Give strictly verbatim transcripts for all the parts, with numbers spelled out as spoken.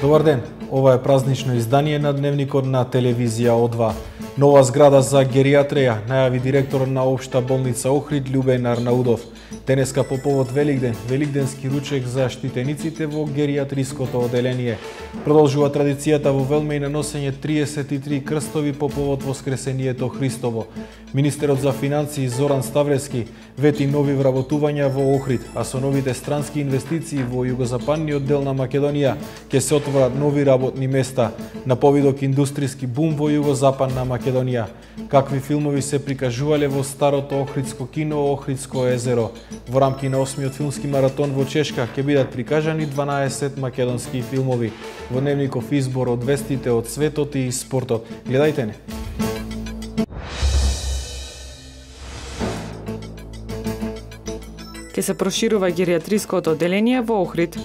Добар ден, ова е празнично издание на Дневникот на телевизија О два. Нова зграда за геријатрија, најави директорот на Општа болница Охрид Љубен Арнаудов. Денеска по повод Великден, великденски ручек за штитениците во геријатриското оделение. Продолжува традицијата во Велмеј на носење триесет и три крстови по повод Воскресението Христово. Министерот за финансии Зоран Ставрески вети нови вработувања во Охрид, а со новите странски инвестиции во југозападниот дел на Македонија ќе се отворат нови работни места на повидок индустријски бум во југозападна Македонија. Какви филмови се прикажувале во старото Охридско кино Охридско езеро? Во рамки на осмиот филмски маратон во Чешка ќе бидат прикажани дванаесет македонски филмови. Во Дневников избор од вестите од светот и спортот. Гледајте не! Ке се проширува геријатриското оделение во Охрид.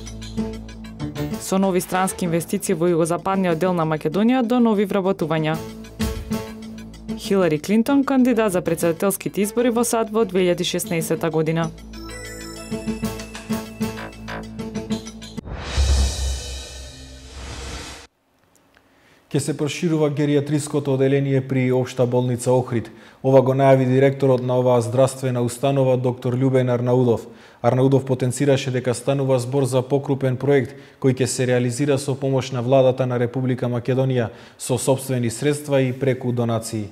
Со нови странски инвестиции во југозападниот дел на Македонија до нови вработувања. Хилари Клинтон кандидат за претседателските избори во САД во две илјади и шеснаесетта година. Ке се проширува геријатриското оделение при Општа болница Охрид. Ова го најави директорот на оваа здравствена установа доктор Љубен Арнаудов. Арнаудов потенцираше дека станува збор за покрупен проект кој ќе се реализира со помош на владата на Република Македонија со сопствени средства и преку донации.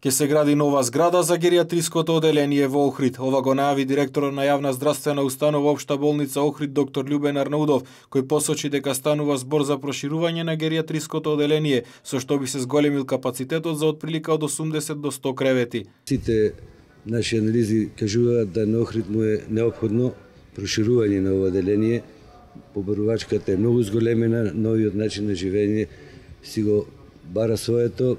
Ке се гради нова зграда за геријатриското оделение во Охрид. Ова го најави директорот на јавна здравствена установа Општа болница Охрид доктор Љубен Арнаудов, кој посочи дека станува збор за проширување на геријатриското оделение, со што би се зголемил капацитетот за отприлика од осумдесет до сто кревети. Сите наши анализи кажуваат да на Охрид му е неопходно проширување на ова оделение. Побарувачката е многу зголемена, новиот начин на живење си го бара своето,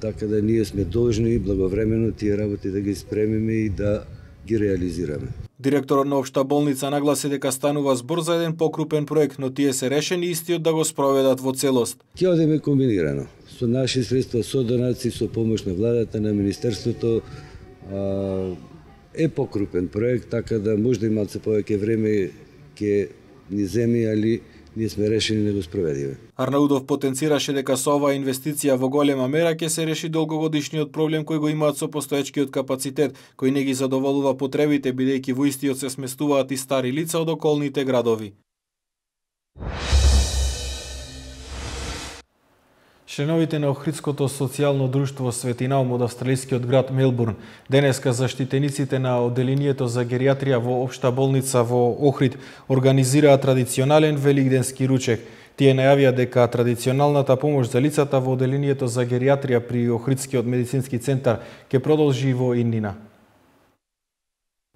така да ние сме должни благовремено тие работи да ги спремиме и да ги реализираме. Директорот на Општа болница нагласи дека станува збор за еден покрупен проект, но тие се решени истиот да го спроведат во целост. Ќе одиме комбинирано, со наши средства, со донации, со помош на владата, на министерството, е покрупен проект, така да можда и малце повеќе време ќе ни земи, али ние сме решени да го спроведиме. Арнаудов потенцираше дека со оваа инвестиција во голема мера ќе се реши долгогодишниот проблем кој го имаат со постоечкиот капацитет, кој не ги задоволува потребите, бидејќи во истиот се сместуваат и стари лица од околните градови. Членовите на Охридското социјално друштво Светинаум од австралискиот град Мелбурн денеска заштитениците на оделението за геријатрија во Општа болница во Охрид организираа традиционален великденски ручек. Тие најавија дека традиционалната помош за лицата во оделението за геријатрија при Охридскиот медицински центар ќе продолжи во иднина.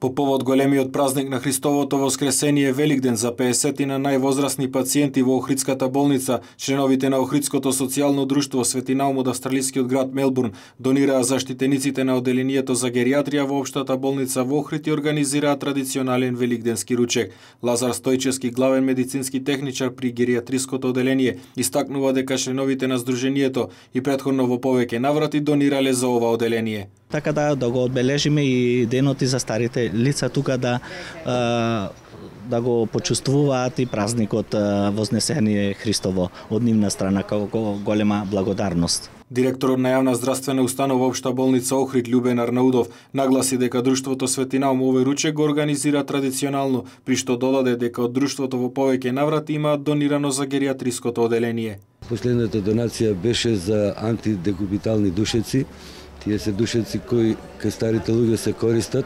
По повод големиот празник на Христовото воскресение Великден за пеесетина највозрасни пациенти во Охридската болница, членовите на Охридското социјално друштво Светинаум од австралискиот град Мелбурн донираа заштитениците на оделението за геријатрија во Општата болница во Охрид и организираа традиционален великденски ручек. Лазар Стојчевски, главен медицински техничар при геријатриското оделение, истакнува дека членовите на здруженијето и претходно во повеќе наврати донирале за ова оделение. Така да, да го одбележиме и денот и за старите лица тука да да го почувствуваат и празникот Вознесение Христово од нивна страна како голема благодарност. Директорот на јавна здравствена установа Општа болница Охрид Љубен Арнаудов нагласи дека друштвото Светинаум овој ручек го организира традиционално, при што додаде дека од друштвото во повеќе наврати имаат донирано за геријатриското оделение. Последната донација беше за антидекубитални душеци. Тие се душеци кои кај старите луѓе се користат,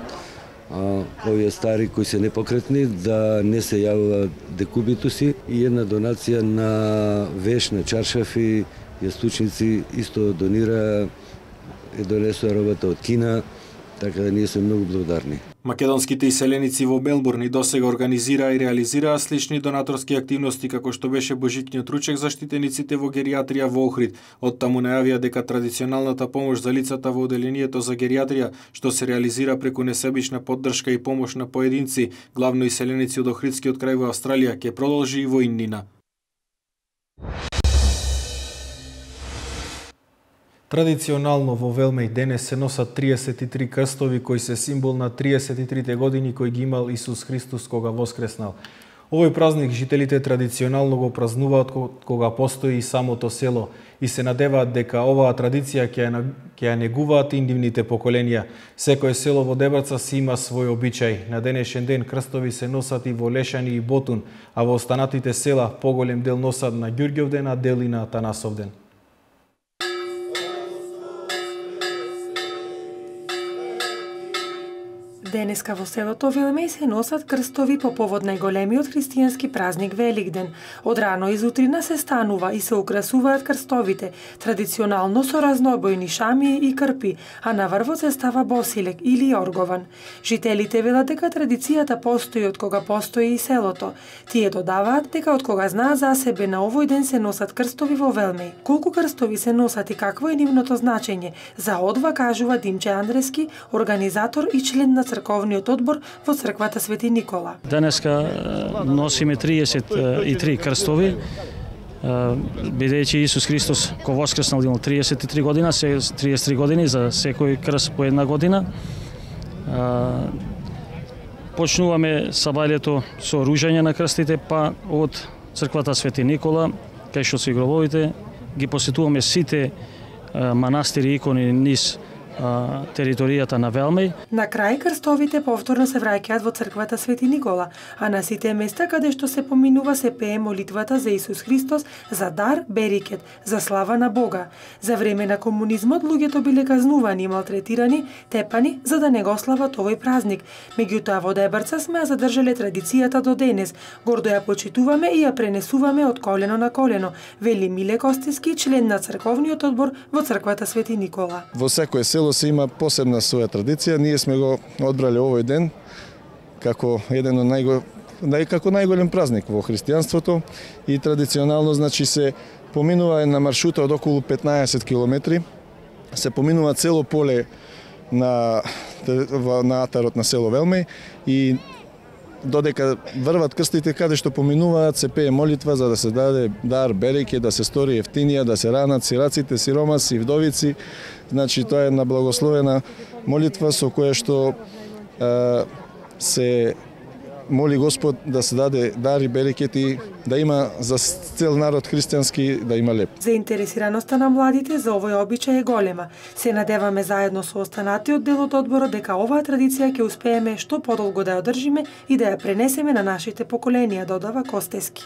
а овие стари кои се непокретни да не се јавува декубитуси, и една донација на веш, на чаршафи, јастучници исто донира, е донесува робата од Кина, така да ние сме многу благодарни. Македонските иселеници во Мелбурн и досега организираа и реализираа слични донаторски активности како што беше божитниот ручек за штитениците во геријатрија во Охрид. Оттаму најавија дека традиционалната помош за лицата во оделението за геријатрија, што се реализира преку несебична поддршка и помош на поединци, главно иселеници од Охридскиот крај во Австралија, ќе продолжи и во иднина. Традиционално во Велмеј денес се носат триесет и три крстови кои се символ на триесет и трите години кои ги имал Исус Христос кога воскреснал. Овој празник жителите традиционално го празнуваат кога постои и самото село и се надеваат дека оваа традиција ќе ја негуваат и нивните поколенија. Секое село во Дебраца си има свој обичај. На денешен ден крстови се носат и во Лешани и Ботун, а во останатите села поголем дел носат на Ѓурѓовден, а дел и на Танасовден. Денеска во селото Велмеј се носат крстови по повод најголемиот христијански празник Великден. Од рано изутрина се станува и се украсуваат крстовите, традиционално со разнобојни шамии и крпи, а на врвот се става босилек или оргован. Жителите велат дека традицијата постои од кога постои и селото. Тие додаваат дека од кога знаат за себе на овој ден се носат крстови во Велмеј. Колку крстови се носат и какво е нивното значење, за одва кажува Димче Андрески, организатор и член на црковниот одбор во црквата Свети Никола. Денеска носиме триесет и три крстови, бидејќи Исус Христос ко воскреснал имал триесет и три година, се триесет и три години за секој крст по една година. Почнуваме сабајлето со ружање на крстите, па од црквата Свети Никола, кај што се гробовите, ги посетуваме сите манастири и икони низ територијата на Велмеј. На крај крстовите повторно се враќаат во црквата Свети Никола, а на сите места каде што се поминува се пее молитвата за Исус Христос, за дар, берикет, за слава на Бога. За време на комунизмот луѓето биле казнувани и малтретирани, тепани за да не го слават овој празник. Меѓутоа во Дебрца сме ја задржале традицијата до денес. Гордо ја почитуваме и ја пренесуваме од колено на колено, вели Миле Костиски, член на црковниот одбор во црквата Свети Никола. Во секое село се има посебна своја традиција. Ние сме го одбрале овој ден како еден од најго, нај, како најголем празник во христијанството и традиционално значи се поминува на маршрута од околу петнаесет километри, се поминува цело поле на на атарот на село Велмеј и додека врват крстите каде што поминуваат се пее молитва за да се даде дар, береке, да се стори ефтинија, да се ранат сираците, сиромаси и вдовици. Значи тоа е една благословена молитва со која што е, се моли Господ да се даде дар и берекет и да има за цел народ христијански да има леп. Заинтересираноста на младите за овој обичај е голема. Се надеваме заедно со останатиот дел од одборот дека оваа традиција ќе успееме што подолго да ја одржиме и да ја пренесеме на нашите поколенија, додава Костески.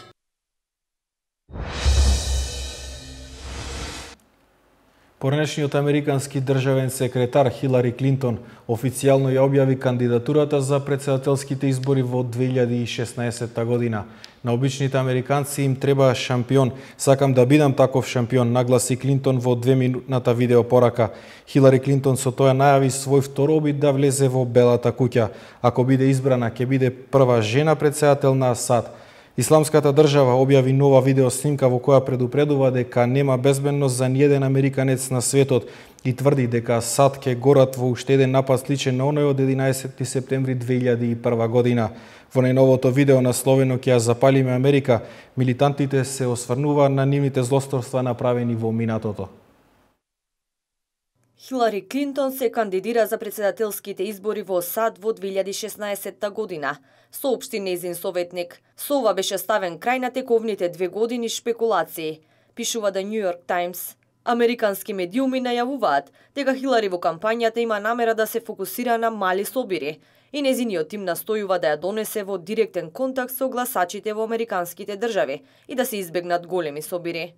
Поранешниот американски државен секретар Хилари Клинтон официјално ја објави кандидатурата за председателските избори во две илјади и шеснаесетта година. На обичните американци им треба шампион. Сакам да бидам таков шампион, нагласи Клинтон во двеминутната видеопорака. Хилари Клинтон со тоа најави свој втор обид да влезе во Белата куќа. Ако биде избрана, ќе биде прва жена председател на САД. Исламската држава објави нова видеоснимка во која предупредува дека нема безбедност за ниеден американец на светот и тврди дека САД ќе горат во уште еден напад сличен на оној од единаесетти септември две илјади и прва година. Во најновото видео насловено "Ќе ја запалиме Америка", милитантите се осврнуваат на нивните злосторства направени во минатото. Хилари Клинтон се кандидира за председателските избори во САД во две илјади и шеснаесетта година, соопшти нејзин советник. Со ова беше ставен крај на тековните две години шпекулации, пишува The New York Times. Американски медиуми најавуваат дека Хилари во кампањата има намера да се фокусира на мали собири и нејзиниот тим настојува да ја донесе во директен контакт со гласачите во американските држави и да се избегнат големи собири.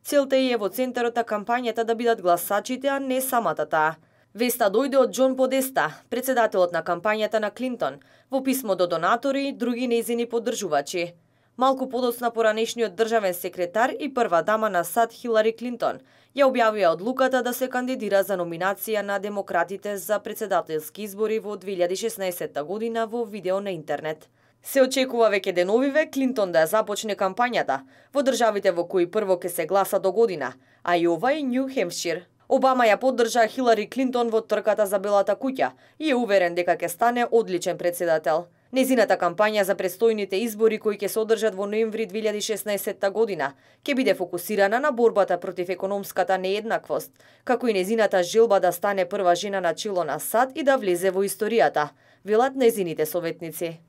Целта е во центарот на кампањата да бидат гласачите, а не самата таа. Веста дојде од Џон Подеста, председателот на кампањата на Клинтон, во писмо до донатори и други нејзини поддржувачи. Малку подоцна поранешниот државен секретар и прва дама на САД Хилари Клинтон ја објавија одлуката да се кандидира за номинација на демократите за председателски избори во две илјади и шеснаесетта година во видео на интернет. Се очекува веќе деновиве Клинтон да ја започне кампањата во државите во кои прво ќе се гласа до година, Ајова и Нью Хемпшир. Обама ја поддржа Хилари Клинтон во трката за Белата куќа и е уверен дека ќе стане одличен председател. Незината кампања за предстојните избори кои ќе се одржат во ноември две илјади и шеснаесетта година ќе биде фокусирана на борбата против економската нееднаквост, како и незината желба да стане прва жена на чело на САД и да влезе во историјата, велат незините советници.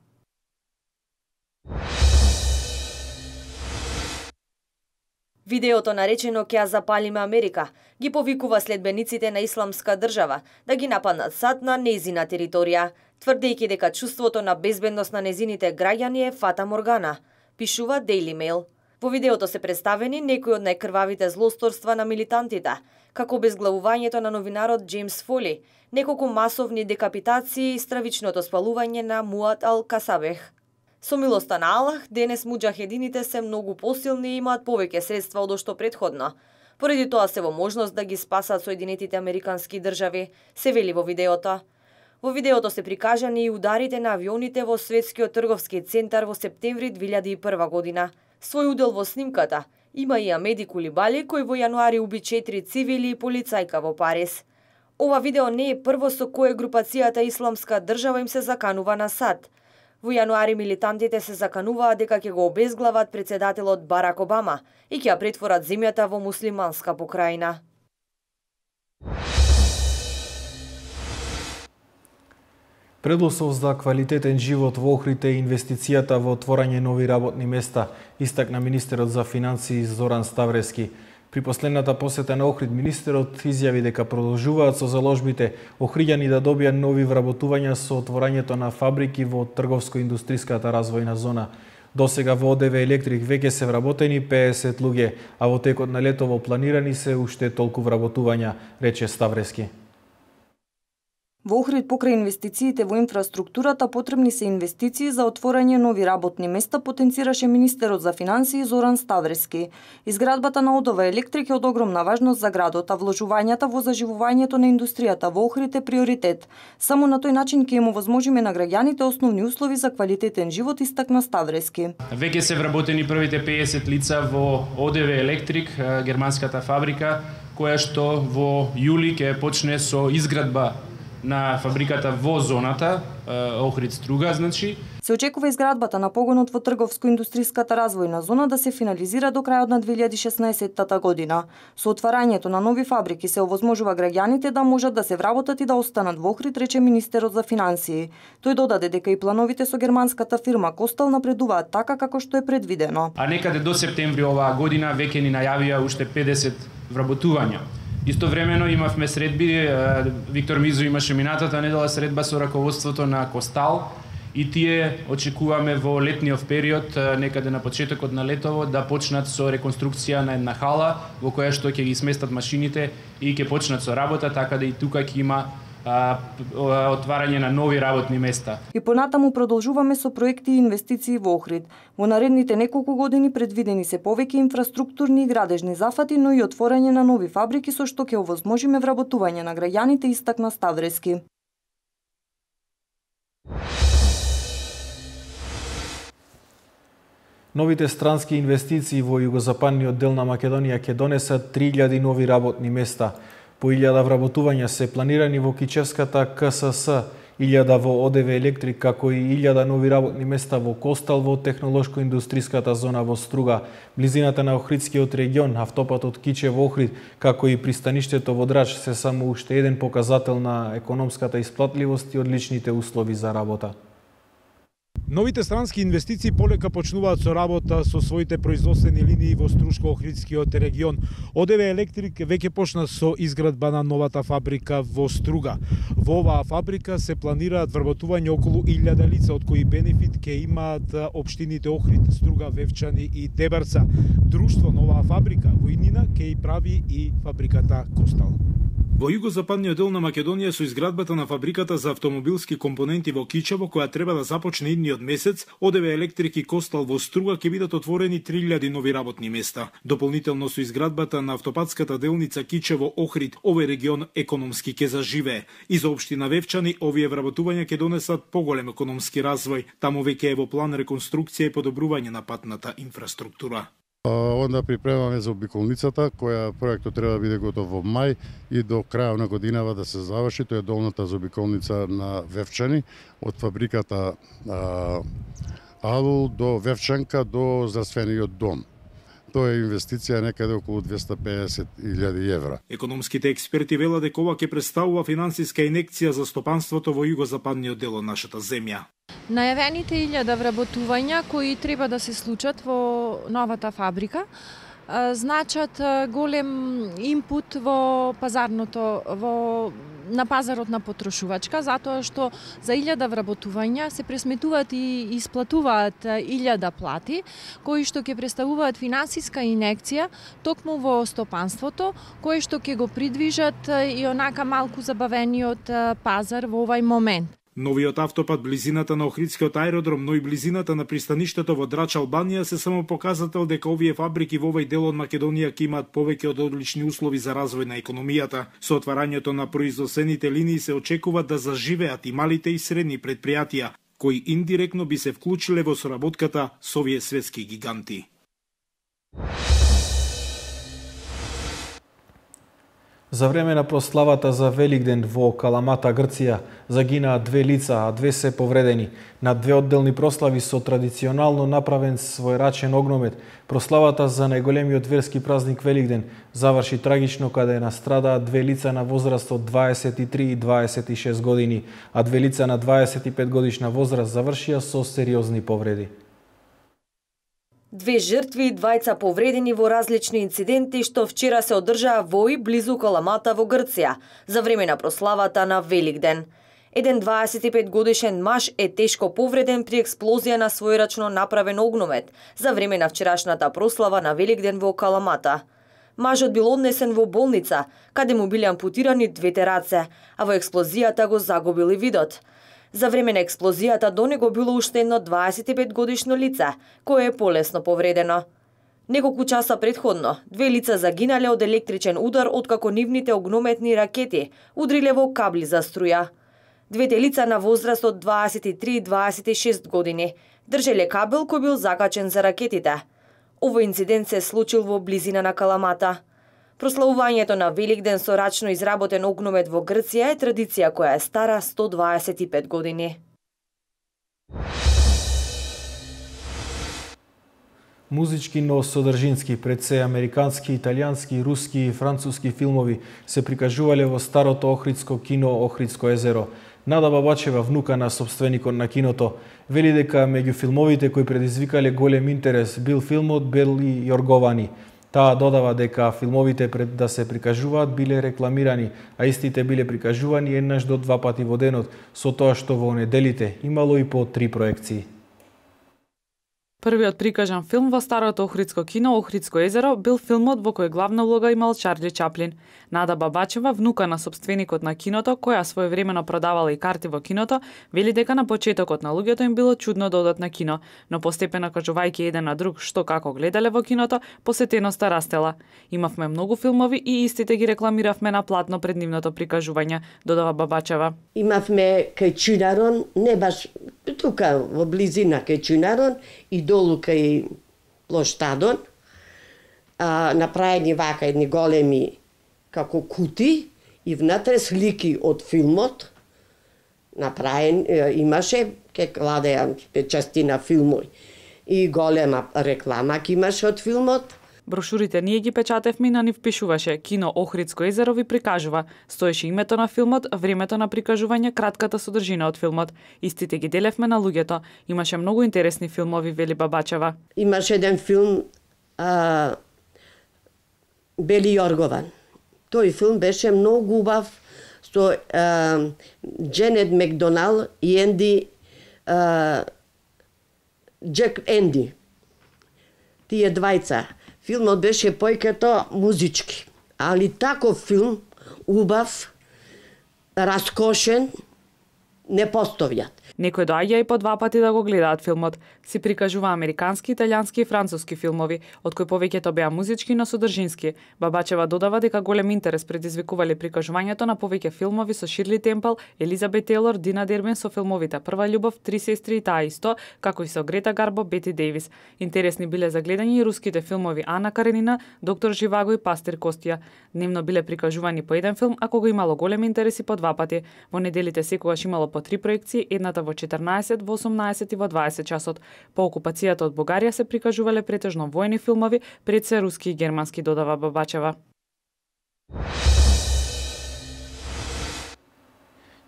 Видеото наречено "Ќе ја запалиме Америка" ги повикува следбениците на Исламска држава да ги нападнат САД на нејзина територија, тврдејќи дека чувството на безбедност на незините граѓани е фата моргана, пишува Daily Mail. Во видеото се представени некои од најкрвавите злосторства на милитантите, како безглавувањето на новинарот Джеймс Фоли, неколку масовни декапитации и стравичното спалување на Муад Ал-Касабех. Со милоста на Аллах, денес муџахедините се многу посилни и имаат повеќе средства од што предходно. Поради тоа се во можност да ги спасат Соединетите Американски држави, се вели во видеото. Во видеото се прикажани и ударите на авионите во Светскиот трговски центар во септември две илјади и прва година. Свој удел во снимката има и Амеди Кулибали, кој во јануари уби четири цивили и полицајка во Париз. Ова видео не е прво со кое групацијата Исламска држава им се заканува на САД. Во јануари милитантите се закануваат дека ќе го обезглават председателот Барак Обама и ќе ја претворат земјата во муслиманска покрајна. Предуслов за квалитетен живот во Охрид е инвестицијата во отворање нови работни места, истакна министерот за финансии Зоран Ставрески. При последната посета на Охрид, министерот изјави дека продолжуваат со заложбите охриѓани да добијат нови вработувања со отворањето на фабрики во трговско-индустријската развојна зона. Досега во ОДВ Електрик веќе се вработени пеесет луѓе, а во текот на летово планирани се уште толку вработувања, рече Ставрески. Во Охрид покрај инвестициите во инфраструктурата потребни се инвестиции за отворање нови работни места, потенцираше министерот за финансии Зоран Ставрески. Изградбата на ОДВ Електрик е од огромна важност за градот, а вложувањата во заживувањето на индустријата во Охрид е приоритет. Само на тој начин ќе им овозможиме на граѓаните основни услови за квалитетен живот, истакна Ставрески. Веќе се вработени првите пеесет лица во ОДВ Електрик, германската фабрика, која што во јули ќе почне со изградба на фабриката во зоната Охрид Струга, значи. Се очекува изградбата на погонот во трговско-индустријската развојна зона да се финализира до крајот на две илјади и шеснаесетта година. Со отварањето на нови фабрики се овозможува граѓаните да можат да се вработат и да останат во Охрид, рече министерот за финансии. Тој додаде дека и плановите со германската фирма Костал напредуваат така како што е предвидено. А некаде до септември оваа година веќе ни најавија уште педесет вработувања. Истовремено имавме средби, Виктор Мизо имаше минатата недела средба со раководството на Костал и тие очекуваме во летниот период, некаде на почетокот на летово, да почнат со реконструкција на една хала во која што ќе ги сместат машините и ќе почнат со работа, така да и тука ќе има отварање на нови работни места. И понатаму продолжуваме со проекти и инвестиции во Охрид. Во наредните неколку години предвидени се повеќе инфраструктурни и градежни зафати, но и отворање на нови фабрики со што ќе овозможиме вработување на граѓаните, истакна Ставрески. Новите странски инвестиции во југозападниот дел на Македонија ќе донесат три илјади нови работни места. По илјада вработувања се планирани во Кичевската К С С, илјада во ОДВ Електрик, како и илјада нови работни места во Костал во технолошко-индустријската зона во Струга, близината на Охридскиот регион, автопатот Кичево-Охрид, како и пристаништето во Драч се само уште еден показател на економската исплатливост и одличните услови за работа. Новите странски инвестиции полека почнуваат со работа со своите производствени линии во Струшко-Охридскиот регион. ОДВ Електрик веќе почна со изградба на новата фабрика во Струга. Во оваа фабрика се планираат вработување околу илјада лица, од кои бенефит ќе имаат општините Охрид, Струга, Вевчани и Дебарца. Друштво на оваа фабрика во иднина ќе и прави и фабриката Костал. Во југозападниот дел на Македонија со изградбата на фабриката за автомобилски компоненти во Кичево, која треба да започне идниот месец, ОДВ Електрик и Костал во Струга ќе бидат отворени три илјади нови работни места. Дополнително со изградбата на автопатската делница Кичево-Охрид, овој регион економски ќе заживее. И за општина Вевчани, овие вработувања ќе донесат поголем економски развој. Таму веќе е во план реконструкција и подобрување на патната инфраструктура. Онда припремаме за обиколницата, која проектот треба да биде готов во мај и до крајот на годинава да се заврши. Тоа е долната за обиколница на Вевчани, од фабриката а, Алул до Вевчанка до здравствениот дом. Тоа е инвестиција некаде околу двесте и педесет илјади евра. Економските експерти велат дека ова ќе представува финансиска инекција за стопанството во југозападниот дел од нашата земја. Најавените илјада вработувања кои треба да се случат во новата фабрика значат голем импут во пазарното, во на пазарот на потрошувачка, затоа што за илјада вработувања се пресметуваат и исплатуваат илјада плати, кои што ќе представуваат финансиска инекција токму во стопанството, кои што ќе го придвижат и онака малку забавениот пазар во овај момент. Новиот автопат близината на Охридскиот аеродром, но и близината на пристаништето во Драч, Албанија се само показател дека овие фабрики во овој дел од Македонија ќе имаат повеќе од одлични услови за развој на економијата. Со отварањето на производствените линии се очекува да заживеат и малите и средни предпријатија, кои индиректно би се вклучиле во соработката со овие светски гиганти. За време на прославата за Великден во Каламата, Грција, загинаа две лица, а две се повредени. На две одделни прослави со традиционално направен својрачен огномет, прославата за најголемиот верски празник Великден заврши трагично каде настрадаа две лица на возраст од дваесет и три и дваесет и шест години, а две лица на дваесет и пет годишна возраст завршија со сериозни повреди. Две жртви и двајца повредени во различни инциденти што вчера се одржаа во и близу Каламата во Грција за време на прославата на Великден. Еден дваесет и пет годишен маж е тешко повреден при експлозија на својрачно направен огномет за време на вчерашната прослава на Великден во Каламата. Мажот бил однесен во болница, каде му биле ампутирани двете раце, а во експлозијата го загубил и видот. За време на експлозијата до него било уште едно дваесет и пет годишно лице, кое е полесно повредено. Неколку часа предходно, две лица загинале од електричен удар откако нивните огнометни ракети удриле во кабли за струја. Двете лица на возраст од дваесет и три и дваесет и шест години држеле кабел кој бил закачен за ракетите. Овој инцидент се случил во близина на Каламата. Прославувањето на Великден со рачно изработен огномет во Грција е традиција која е стара сто дваесет и пет години. Музички, но содржински, пред се американски, италијански, руски и француски филмови се прикажувале во старото Охридско кино Охридско езеро. Нада Бабачева, внука на собственикот на киното, вели дека меѓу филмовите кои предизвикале голем интерес бил филмот Бели Јорговани. Таа додава дека филмовите пред да се прикажуваат биле рекламирани, а истите биле прикажувани еднаш до два пати во денот, со тоа што во неделите имало и по три проекции. Првиот прикажан филм во старото Охридско кино Охридско езеро бил филмот во кој главна улога имал Чарли Чаплин. Нада Бабачева, внука на собственикот на киното, која своевремено продавала и карти во киното, вели дека на почетокот на луѓето им било чудно да одат на кино, но постепено кажувајќи еден на друг што како гледале во киното, посетеноста растела. Имавме многу филмови и истите ги рекламиравме на платно пред нивното прикажување, додава Бабачева. Имавме кај Чунарон, не баш тука во близина кај Чунарон и долу кај Плоштадон, а, направени вака едни големи како кути и внатре слики од филмот направен, имаше, ке кладеа частина филмови и голема реклама ке имаше од филмот. Брошурите ние ги печатевме и на нив пишуваше Кино Охридско езеро ви прикажува. Стоеше името на филмот, времето на прикажување, кратката содржина од филмот. Истите ги делевме на луѓето. Имаше многу интересни филмови, вели Бабачева. Имаше еден филм а, Бели Јоргован. Тој филм беше многу убав со а, Дженет Макдонал и Енди а, Джек Енди. Тие двајца. Филмот беше појкато музички, али таков филм, убав, раскошен, не постојат. Некој доаѓа и по два пати да го гледаат филмот. Си прикажува американски, италијански и француски филмови, од кои повеќето беа музички, но содржински. Бабачева додава дека голем интерес предизвикувале прикажувањето на повеќе филмови со Ширли Темпл, Елизабет Тейлор, Дина Дербин со филмовите Прва љубов, Три сестри и таа исто, како и со Грета Гарбо, Бети Дејвис. Интересни биле за гледање и руските филмови Ана Каренина, Доктор Живаго и Пастир Костија. Дневно биле прикажувани по еден филм, ако го имало голем интерес и по два пати. Во неделите секогаш имало по три проекции, едната во четрнаесет, во осумнаесет и во дваесет часот. По окупацијата од Бугарија се прикажувале претежно војни филмови, пред се руски и германски, додава Бабачева.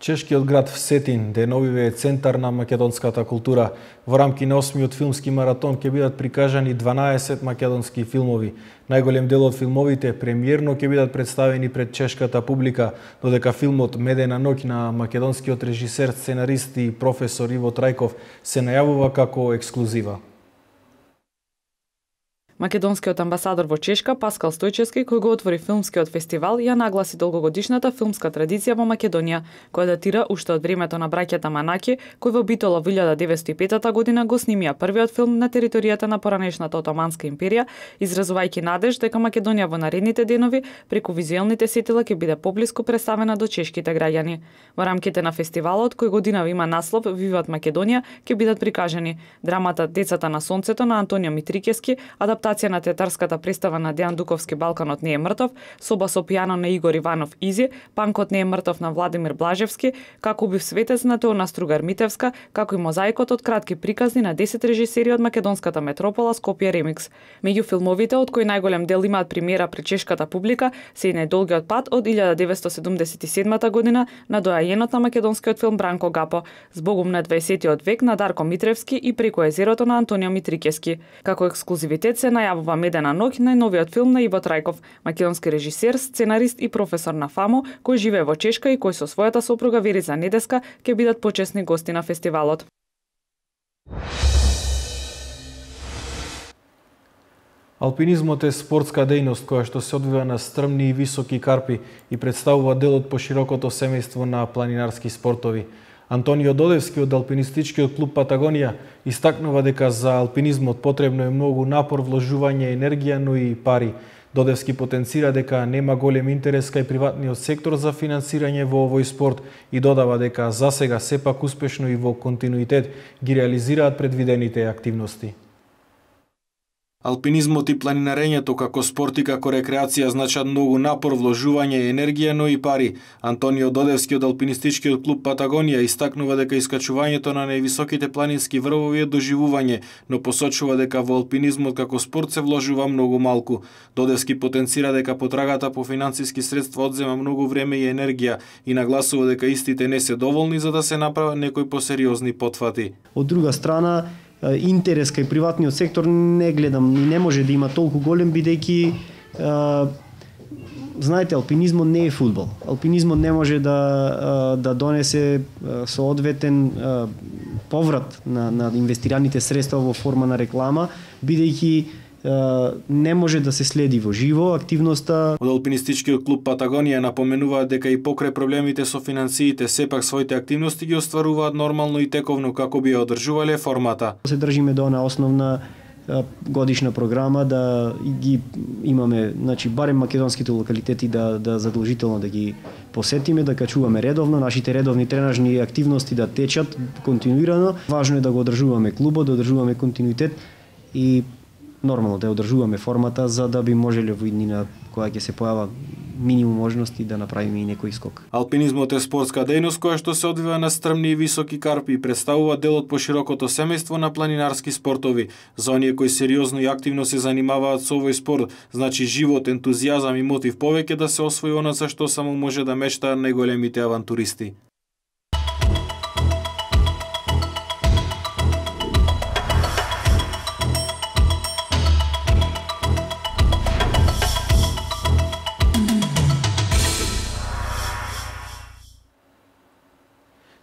Чешкиот град Всетин, деновиве е центар на македонската култура. Во рамки на осмиот филмски маратон ќе бидат прикажани дванаесет македонски филмови. Најголем дел од филмовите премиерно ќе бидат представени пред чешката публика, додека филмот Медена ноќ на македонскиот режисер, сценарист и професор Иво Трајков се најавува како ексклузива. Македонскиот амбасадор во Чешка Паскал Стојчевски, кој го отвори филмскиот фестивал, ја нагласи долгогодишната филмска традиција во Македонија, која датира уште од времето на браќата Манаки, кои во Битола во илјада деветстотини и пета година го снимија првиот филм на територијата на поранешната Отоманска империја, изразувајќи надеж дека Македонија во наредните денови преку визуелните сетила ќе биде поблиску представена до чешките граѓани. Во рамките на фестивалот, кој годинава има наслов Виват Македонија, ќе бидат прикажани драмата Децата на сонцето на Антонио Митрикевски, адаптација на театарската представа на Дејан Дуковски Балканот не е мртов, Соба со пијано на Игор Иванов Изи, Панкот не е мртов на Владимир Блажевски, Како убив светец на Теона Стругар Митевска, како и мозаикот од кратки приказни на десет режисери од македонската метропола Скопје Ремикс. Меѓу филмовите од кои најголем дел имаат премиера пред чешката публика се и Најдолгиот пат од илјада деветстотини седумдесет и седма година на доајенот на македонскиот филм Бранко Гапо, Збогум на дваесеттиот век на Дарко Митревски и Преку езерото на Антонио Митрикевски. Како ексклузивитет се најавува Медена ноќ, најновиот филм на Иво Трајков, македонски режисер, сценарист и професор на ФАМО, кој живее во Чешка и кој со својата сопруга Верица Недеска ќе бидат почесни гости на фестивалот. Алпинизмот е спортска дејност која што се одвива на стрмни и високи карпи и представува дел од поширокото семејство на планинарски спортови. Антонио Додевски од алпинистичкиот клуб Патагонија истакнува дека за алпинизмот потребно е многу напор, вложување енергија, но и пари. Додевски потенцира дека нема голем интерес кај приватниот сектор за финансирање во овој спорт и додава дека засега сепак успешно и во континуитет ги реализираат предвидените активности. Алпинизмот и планинарењето како спорт и како рекреација значат многу напор, вложување, енергија, но и пари. Антонио Додевски од алпинистичкиот клуб Патагонија истакнува дека искачувањето на највисоките планински врвови е доживување, но посочува дека во алпинизмот како спорт се вложува многу малку. Додевски потенцира дека потрагата по финансиски средства одзема многу време и енергија и нагласува дека истите не се доволни за да се направат некои посериозни потфати. Од друга страна, интерес кај приватниот сектор не гледам и не може да има толку голем, бидејќи знаете, алпинизмот не е фудбал. Алпинизмот не може да да донесе соодветен поврат на на инвестираните средства во форма на реклама, бидејќи не може да се следи во живо активноста. Од алпинистичкиот клуб Патагонија напоменуваат дека и покрај проблемите со финансиите сепак своите активности ги остваруваат нормално и тековно како би ја одржувале формата. Се држиме до она основна годишна програма да ги имаме, значи барем македонските локалитети да да задолжително да ги посетиме, да качуваме редовно, нашите редовни тренажни активности да течат континуирано. Важно е да го одржуваме клубот, да одржуваме континуитет и нормално да одржуваме формата за да би можеле во иднина кога ќе се појава минимум можности да направиме и некој скок. Алпинизмот е спортска дејност која што се одвива на стрмни и високи карпи и представува дел од поширокото семејство на планинарски спортови. За оние кои сериозно и активно се занимаваат со овој спорт, значи живот, ентузијазам и мотив повеќе да се освои она за што само може да мечтаат најголемите авантуристи.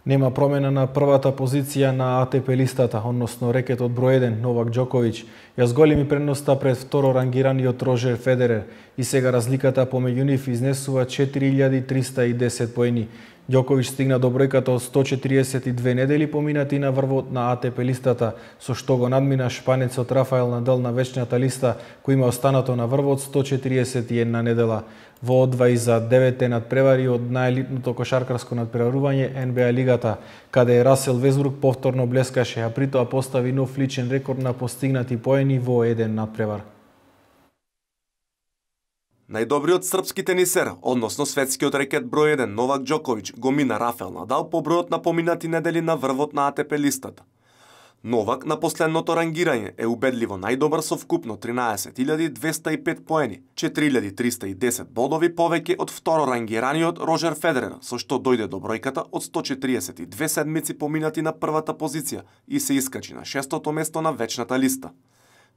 Нема промена на првата позиција на А Т П листата, односно рекетот број еден Новак Џоковиќ ја зголеми предноста пред второ рангираниот Рожер Федерер и сега разликата помеѓу нив изнесува четири илјади триста и десет поени. Џоковиќ стигна до бројката од сто четиридесет и две недели поминати на врвот на А Т П листата, со што го надмина шпанецот Рафаел Надал на вечната листа, кој има останато на врвот сто четиридесет и една недела. Во одвај за деветте надпревари од најелитното кошаркарско надпреварување Н Б А лигата, каде Расел Весбрук повторно блескаше, а притоа постави нов личен рекорд на постигнати поени во еден надпревар. Најдобриот српски тенисер, односно светскиот рекет број еден Новак Џоковиќ го мина Рафаел Надал по бројот на поминати недели на врвот на А Т П листата. Новак на последното рангирање е убедливо најдобар со вкупно тринаесет илјади двеста и пет поени, четири илјади триста и десет бодови повеќе од второ рангираниот Роџер Федерер, со што дојде до бројката од сто четириесет и две седмици поминати на првата позиција и се искачи на шестото место на вечната листа.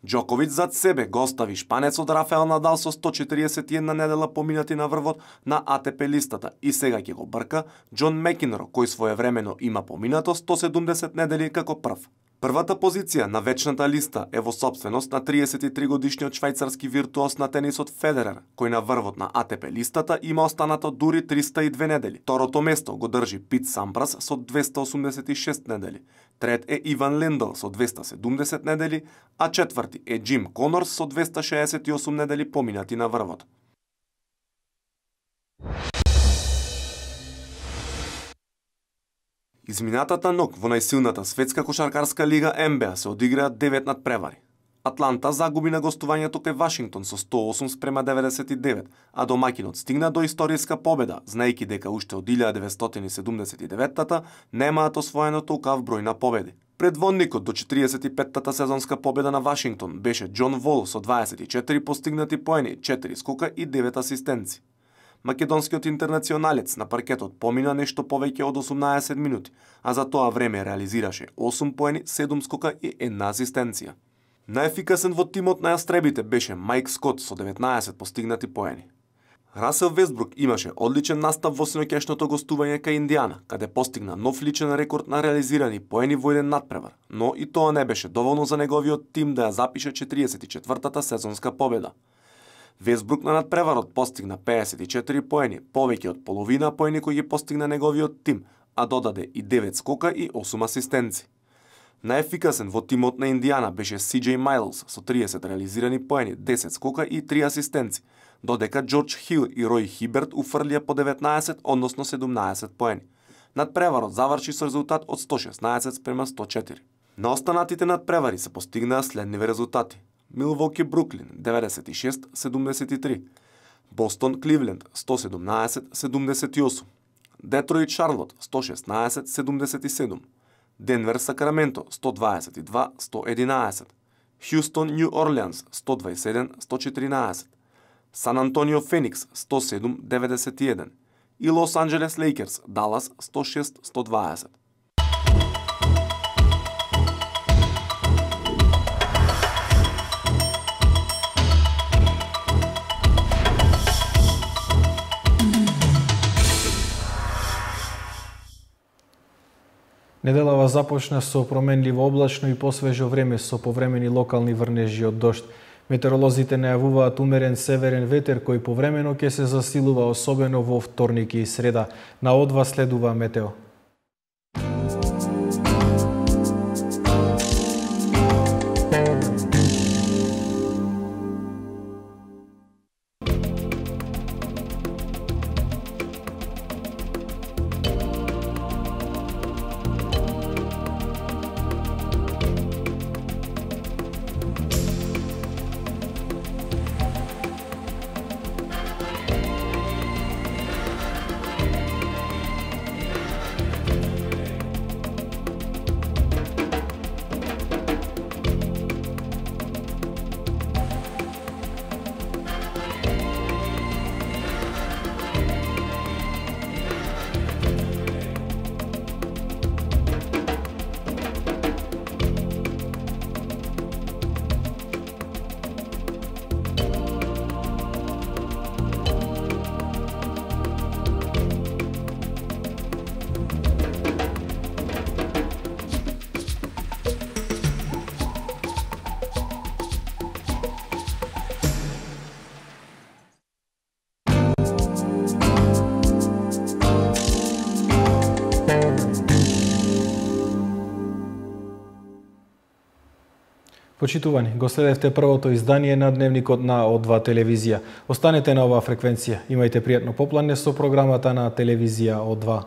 Џоковиќ зад себе го остави шпанецот Рафаел Надал со сто четириесет и една недела поминати на врвот на А Т П листата и сега ќе го брка Џон Мекинро, кој своевремено има поминато сто седумдесет недели како прв. Првата позиција на вечната листа е во сопственост на триесет и три годишниот швајцарски виртуоз на тенисот Федерер, кој на врвот на А Т П листата има останато дури триста и две недели. Второто место го држи Пит Сампрас со двеста осумдесет и шест недели. Трет е Иван Лендл со двеста седумдесет недели, а четврти е Џим Конорс со двеста шеесет и осум недели поминати на врвот. Изминатата ног во најсилната светска кошаркарска лига Н Б А се одиграа девет надпревари. Атланта загуби на гостувањето кај Вашингтон со сто и осум спрема деветдесет и девет, а домаќинот стигна до историска победа, знаејќи дека уште од илјада деветстотини седумдесет и деветта немаат освоено толкав број на победи. Предводникот до четириесет и петтата сезонска победа на Вашингтон беше Џон Вол со дваесет и четири постигнати поени, четири скока и девет асистенци. Македонскиот интернационалец на паркетот помина нешто повеќе од осумнаесет минути, а за тоа време реализираше осум поени, седум скока и една асистенција. Најефикасен во тимот на јастребите беше Мајк Скот со деветнаесет постигнати поени. Расел Вестбрук имаше одличен настап во синоќешното гостување кај Индијана, каде постигна нов личен рекорд на реализирани поени во еден надпревар, но и тоа не беше доволно за неговиот тим да ја запише четириесет и четвртата сезонска победа. Вестбрук на надпреварот постигна пеесет и четири поени, повеќе од половина поени кои ги постигна неговиот тим, а додаде и девет скока и осум асистенци. Најефикасен во тимот на Индијана беше Си Џеј Майлс со триесет реализирани поени, десет скока и три асистенци, додека Џорџ Хил и Рој Хиберт уфрлија по деветнаесет, односно седумнаесет поени. Надпреварот заврши со резултат од сто шеснаесет спрема сто четири. На останатите надпревари се постигнаа следниве резултати. Милвоки Бруклин деветдесет и шест седумдесет и три, Бостон Кливленд сто седумнаесет седумдесет и осум, Детроит Шарлот сто шеснаесет седумдесет и седум, Денвер Сакраменто сто дваесет и два сто единаесет, Хјустон Њу Орлеанс сто дваесет и седум сто четиринаесет, Сан Антонио Феникс сто седум деветдесет и еден и Лос Анџелес Лейкерс Далас сто шест сто дваесет. Неделава започна со променливо облачно и посвежо време со повремени локални врнежи од дожд. Метеоролозите најавуваат умерен северен ветер кој повремено ќе се засилува, особено во вторник и среда. На одва следува метео. Почитувани, го следевте првото издание на Дневникот на О два телевизија. Останете на оваа фреквенција. Имајте пријатно поплање со програмата на телевизија О два.